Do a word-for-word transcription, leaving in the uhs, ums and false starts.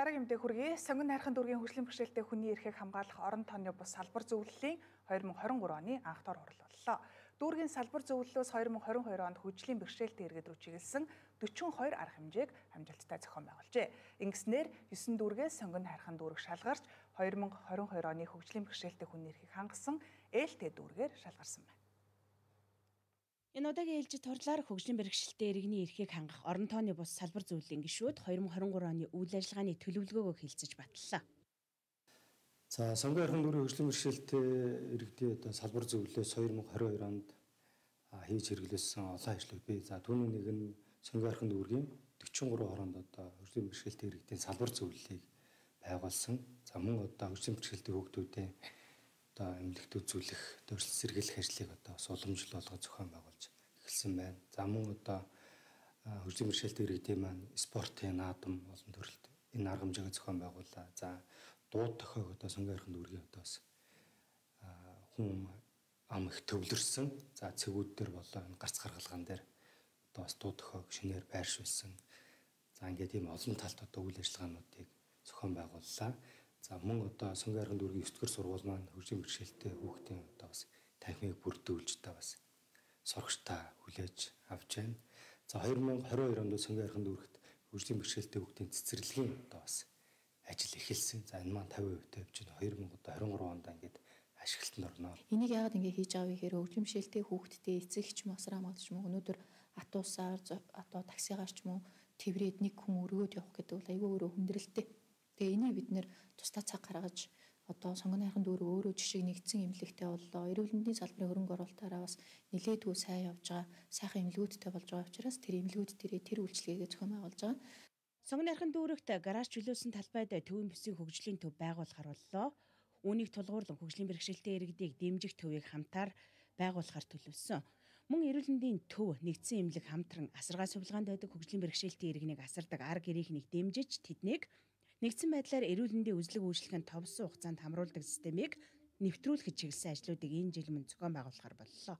Дараагийн мэдээ хүргэе. Сонгон хайрхан дүүргийн хөгжлийн бэрхшээлтэй хүний эрхийг хамгаалах орон тооны бус салбар зөвлөлийн хоёр мың хорин гурав оны анх дор хурал боллоо. Дүүргийн салбар зөвлөлөөс хоёр мың хорин хоёр онд хөгжлийн бэрхшээлтэй иргэд рүү чиглэсэн дөчигдүгээр хоёр арга хэмжээг амжилттай зохион байгуулжээ. Ингэснээр есөн дүүргээс сонгон хайрхан дүүрэг шалгарч хоёр мың хорин хоёр оны хөгжлийн бэрхшээлтэй хүний эрхийг хангасан ээлтэй дүүргээр шалгарсан байна. Энэ удаагийн ээлжид турлаар хөгжлийн бэрхшээлтэй иргэний эрхийг хангах орон тооны бус салбар зөвлөлийн гишүүд хоёр мың хорин гурав оны үйл ажиллагааны төлөвлөгөөгөө хэлцэж батллаа. За сонгон хайрхан дүүргийн хөгжлийн бэрхшээлтэй иргэдийн одоо салбар зөвлөлөөс хоёр мың хорин хоёр онд хийж хэрэглэсэн олон ажлууд бий. За түүний нэг нь сонгон хайрхан дүүргийн дөчигдүгээр гурав хоронд одоо хөгжлийн бэрхшээлтэй иргэдийн салбар зөвлөлийг байгуулсан. За мөн одоо хөгжлийн бэрхшээлтэй хүүхдүүдийн одоо эмнэлэгт үзүүлэх, төрөлс сэргийлэх ажлыг одоо бас уламжлуулгад зохион байгуулж эхэлсэн байна. За мөн одоо хөгжлийн бэрхшээлтэй иргэдийн маань спортын наадам олон төрөлт энэ арга хэмжээг зохион байгууллаа. За дууд тохиог одоо сонгон хайрхан дүүргийн одоо бас хүн ам их төвлөрсөн. За цэгүүд дээр болоо энэ гарц гаргалгаан дээр одоо бас дууд тохиог шинээр байршуулсан. За ингээд ийм олон талт одоо үйл ажиллагаануудыг зохион байгууллаа. За мөн одоо сонгон хайрхан дүүргийн ертөнцийн сургууль маань хөгжлийн бэрхшээлтэй хүүхдийн одоо бас танхимыг бүрдүүлж та бас сурагчтай хүлээж авч байна. За хоёр мың хорин хоёр онд сонгон хайрхан дүүрэгт хөгжлийн бэрхшээлтэй хүүхдийн цэцэрлэгийн одоо бас ажил эхэлсэн. За энэ маань тавин хувьтай явж байна. хоёр мың хорин гурав онд ингээд ашиглалтанд орно. Энийг яагаад ингэ хийж байгаа вэ гэхээр хөгжлийн бэрхшээлтэй хүүхдтэй эцэг ч юм уу асраа магадч юм уу өнөөдөр атуусаар одоо таксигаар ч юм уу тэврээд нэг хүн өргөөд явах гэдэг бол айгүй өөрөө хүндрэлтэй. Тэгээ энийг бид нэр тусдаа цаг гаргаж одоо сонгон хайрхан дүүрэг өөрөө жишээ нэгдсэн эмнэлэгтэй боллоо. Эрүүл мэндийн салбарын хөрөнгө оруулалтаараа бас нэлээдгүй сайн явж байгаа. Сайхан эмнэлгүүдтэй болж байгаа учраас тэр эмнэлгүүд дээрээ тэр үйлчлэгээ зохион байгуулж байгаа. Сонгон хайрхан дүүрэгт гараж чөлөөсөн талбайд төвийн бүсийн хөгжлийн төв байгуулахар боллоо. Үүнийг тулгуурлан хөгжлийн бэрхшээлтэй иргэдийг дэмжих төвийг хамтаар байгуулахар төлөвлөсөн. Мөн эрүүл мэндийн төв нэгдсэн эмнэлэг хамтран асаргаа сувилгаанд байдаг хөгжлийн бэрхшээлтэй иргэнийг асардаг арга ирээхнийг дэмжиж тэднийг нэгдсэн байдлаар эрүүл мэндийн үзлэг үйлчлэгэнд товсон хугацаанд хамруулдаг системийг нэвтрүүлэхэд чиглэсэн ажлуудыг энэ жил мөн зохион байгуулахар боллоо.